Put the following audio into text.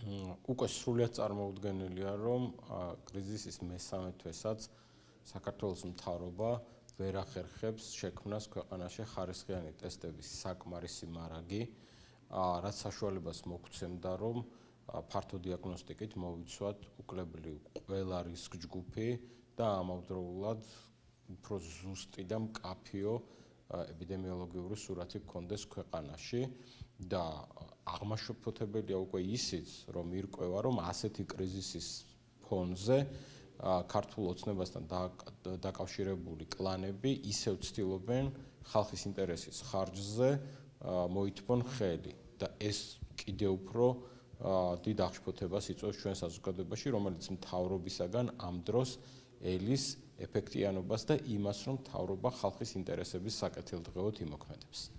უკვე სრულიად წარმოუდგენელია, რომ კრიზისის მესამე თვესაც საქართველოს მთავრობა ვერ ახერხებს შექმნას ქვეყანაში ხარისხიანი ტესტების საკმარისი მარაგი, რაც საშუალებას მოგცემდა, რომ ფართო დიაგნოსტიკით მოვიცვათ უკლებლივ ყველა რისკ ჯგუფი და ამავდროულად უფრო ზუსტი და მკაფიო ეპიდემიოლოგიური სურათი გქონდეს ქვეყანაში და აღმაშფოთებელია უკვე ისიც, რომ ირკვევა, რომ ასეთი კრიზისის ფონზე ქართულ ოცნებასთან დაკავშირებული კლანები ისევ ცდილობენ ხალხის ინტერესის ხარჯზე მოითმონ ხელი და ეს კიდევ უფრო დიდ აღშფოთებას იწვევს ჩვენ საზოგადოებაში, რომელიც მთავრობისაგან ამ დროს ელის ეფექტიანობას და იმას, რომ მთავრობა ხალხის ინტერესების საკეთილდღეოდ იმოქმედებს.